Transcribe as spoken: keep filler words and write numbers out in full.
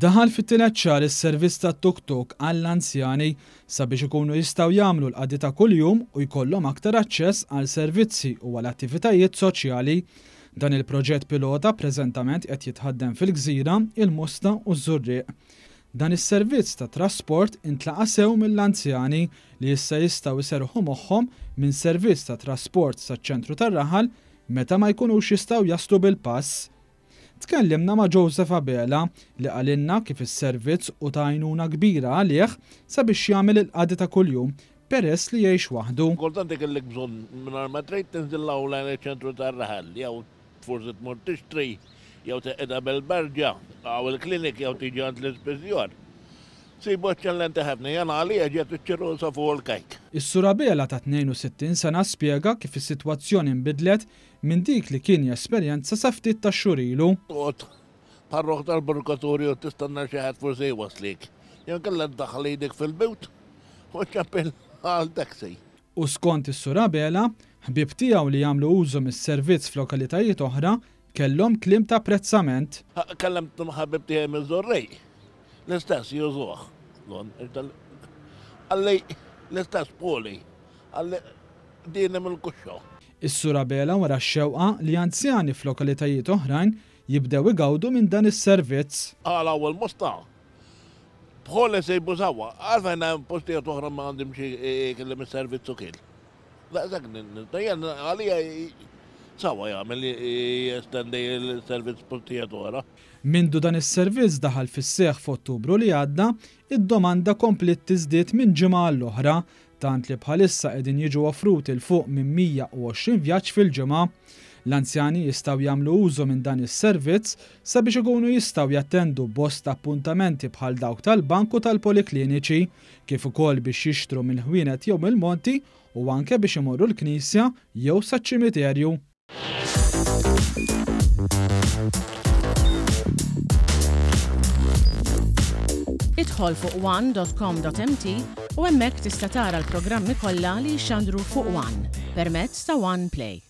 Daħal fit-tielet xahar is-servizz tat-tuk-tuk għall-anzjani sabiex ikunu jistgħu jagħmlu l-qadi ta' kuljum u jkollhom aktar aċċess għal servizzi u għal attivitajiet soċjali. Dan il-proġett pilota preżentament qed jitħaddem fil-Gżira, il-Mosta u ż-Żurrieq. Dan is-servizz ta' trasport intlaqa' sew mill-anzjani li issa jistgħu jserrħu moħħhom minn servizz ta' trasport saċ-ċentru tar-raħal meta ma jkunux jistgħu jaslu bil-pass. Tkellimna ma' Joseph Abela li qalilna kif is-servizz hu ta' għajnuna kbira għalih sabiex jagħmel il-qadi ta' kuljum peress li jgħix waħdu. Kultant ikollok bżonn mingħajr ma trid tinżil lejn iċ-ċentru tar-raħal, jew forsi tmur tixtri, jew teqgħidha bil-berġa, jew il-klinik, jew tiġi għand l-ispiżjar. Sibu eċċellenti ħafna, jana għalija ġiet iċ-ċirrosa fuq il-kejk. Is-Sur Abela ta' tnejn u sittin sena spjega kif is-sitwazzjoni nbidlet minn dik li kien jesperjenza sa ftit ta' xhur ilu. Toqgħod parroħ tal-purgatorju tistenna xi ħadd forsi jwaslik. Jew inkella ddaħħal idek fil-but u ċċempel għal taxi. U skont is-Sur Abela, ħbieb tiegħu li jagħmlu użu mis-servizz f'lokalitajiet oħra kellhom kliem ta' apprezzament. Kellimt ħabib tiegħi miż-Żurrieq. L-istess jużuh. Qalli l-istess poli. Qalli dini mill-kuxxo. Is-Sur Abela wera x-xewqa li anzjani f'lokalitajiet oħrajn jibdew igawdu minn dan is-servizz. Għala u l-Mosta. Bħoli sejbu sawa. Għalfejn hemm postijiet oħra ma għandhom xi kellem is-servizz ukoll. Daqshekk jien għalija sawa jagħmel jestendi l-servizz postijiet oħra. Mindu dan is-servizz daħal fis-seħħ f'Ottubru li għadda, id-domanda kompliet tiżdied minn ġimgħa għall-oħra, tant li bħalissa qegħdin jiġu offruti 'l fuq minn mija u għoxrin vjaġġ fil-ġimgħa. L-anzjani jistgħu jagħmlu użu minn dan is-servizz sabiex ikunu jistgħu jattendu bosta appuntamenti bħal dawk tal-bank u tal-polikliniċi, kif ukoll biex jixtru mill-ħwienet jew mill-monti u anke biex imorru l-knisja jew saċ-ċimiterju. Idħol fuq one dot com dot M T u hemmhekk tista' tara l-programmi kollha li jxandru fuq One permezz ta' One Play.